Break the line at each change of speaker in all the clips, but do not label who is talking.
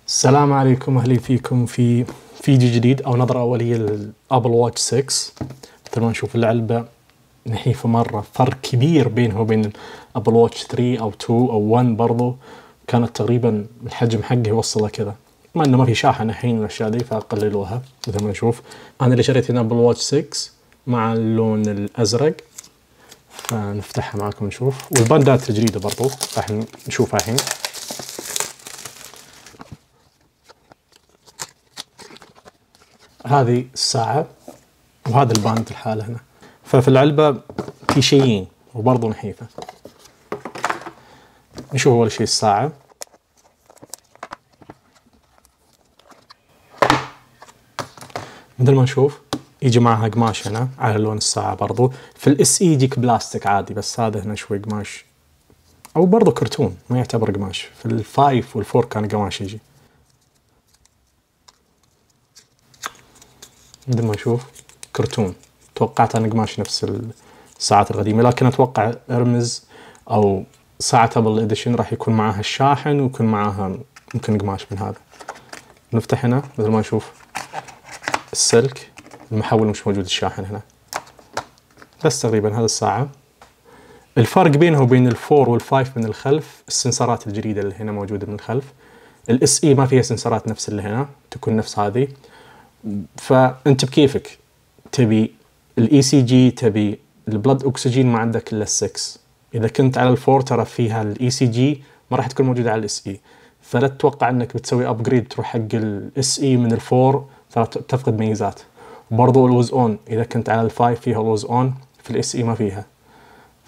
السلام عليكم، اهلا فيكم في فيديو جديد او نظرة اولية للابل واتش 6. مثل ما نشوف العلبة نحيفة مرة، فرق كبير بينها وبين الابل واتش 3 او 2 او 1. برضو كانت تقريبا الحجم حقه يوصله كذا، مع انه ما في شاحن الحين والاشياء دي فقللوها. مثل ما نشوف انا اللي شريت هنا ابل واتش 6 مع اللون الازرق، فنفتحها معاكم نشوف. والباندات الجديدة برضو راح نشوفها الحين. هذه الساعة وهذا الباند الحالة هنا. ففي العلبة في شيئين وبرضه نحيفة. نشوف أول شيء الساعة. مثل ما نشوف يجي معها قماش هنا على لون الساعة. برضه في الاس اي يجيك بلاستيك عادي، بس هذا هنا شوي قماش أو برضه كرتون، ما يعتبر قماش. في الفايف والفور كان قماش يجي. مثل ما نشوف كرتون، توقعت أنا قماش نفس الساعات القديمة، لكن أتوقع ارمز أو ساعة ابل اديشن راح يكون معاها الشاحن ويكون معاها ممكن قماش من هذا. نفتح هنا مثل ما نشوف السلك، المحول مش موجود، الشاحن هنا بس. تقريبا هذا الساعة. الفرق بينه وبين الفور والفايف من الخلف السنسرات الجديدة اللي هنا موجودة من الخلف. الاس اي ما فيها سنسرات نفس اللي هنا، تكون نفس هذه. فانت بكيفك، تبي الاي سي جي، تبي البلد اكسجين، ما عندك الا ال6. اذا كنت على الفور ترى فيها الاي سي جي ما راح تكون موجوده على الاس اي، فلا تتوقع انك بتسوي ابجريد تروح حق الاس اي من الفور، ترى تفقد ميزات. وبرضه الوز اون اذا كنت على الفايف فيها الوز اون، في الاس اي ما فيها.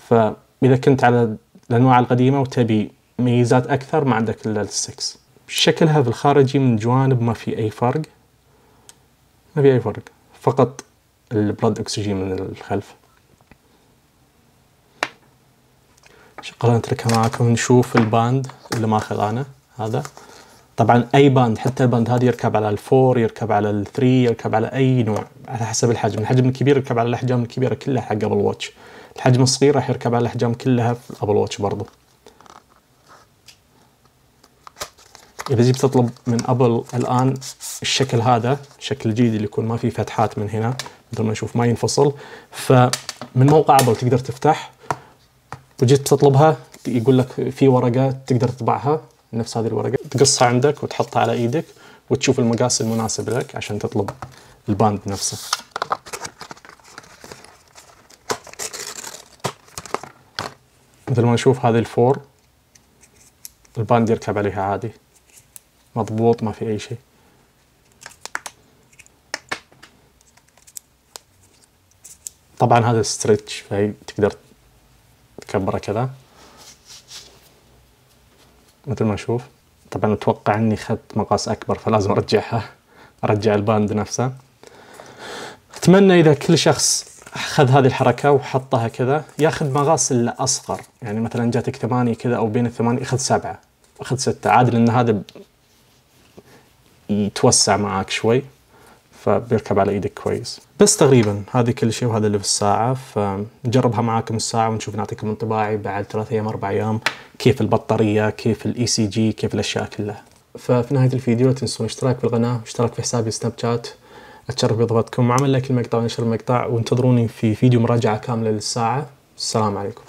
فاذا كنت على الانواع القديمه وتبي ميزات اكثر ما عندك الا ال6. شكلها في الخارجي من جوانب ما في اي فرق، ما في أي فرق، فقط البلد أكسجين من الخلف. شغلنا نتركها معاكم نشوف الباند اللي ماخذ أنا هذا. طبعا أي باند، حتى الباند هذا يركب على الفور، يركب على الثري، يركب على أي نوع على حسب الحجم. الحجم الكبير يركب على الأحجام الكبيرة كلها حق أبل واتش، الحجم الصغير راح يركب على الأحجام كلها في أبل واتش برضو. إذا جيت تطلب من أبل الآن الشكل هذا، الشكل الجديد اللي يكون ما فيه فتحات من هنا، مثل ما نشوف ما ينفصل. فمن موقع أبل تقدر تفتح، وجيت تطلبها يقول لك في ورقة تقدر تطبعها نفس هذه الورقة، تقصها عندك وتحطها على إيدك وتشوف المقاس المناسب لك عشان تطلب الباند نفسه. مثل ما نشوف هذه الفور، الباند يركب عليها عادي مضبوط، ما في أي شيء. طبعا هذا ستريتش، فهي تقدر تكبره كذا مثل ما نشوف. طبعا أتوقع أني أخذت مقاس أكبر فلازم أرجعها، أرجع الباند نفسه. أتمنى إذا كل شخص أخذ هذه الحركة وحطها كذا ياخذ مقاس الأصغر، يعني مثلا جاتك 8 كذا أو بين ال8 أخذ 7، أخذ 6 عادي، لأن هذا يتوسع معاك شوي فبيركب على ايدك كويس. بس تقريبا هذه كل شيء، وهذا اللي في الساعة. فنجربها معاكم الساعة ونشوف، نعطيكم انطباعي بعد 3 أيام 4 أيام، كيف البطارية، كيف الاي سي جي، كيف الأشياء كلها. ففي نهاية الفيديو لا تنسون الاشتراك في القناة واشتراك في حسابي سناب شات. أتشرف بإضافتكم، وعمل لايك المقطع ونشر المقطع، وانتظروني في فيديو مراجعة كاملة للساعة. السلام عليكم.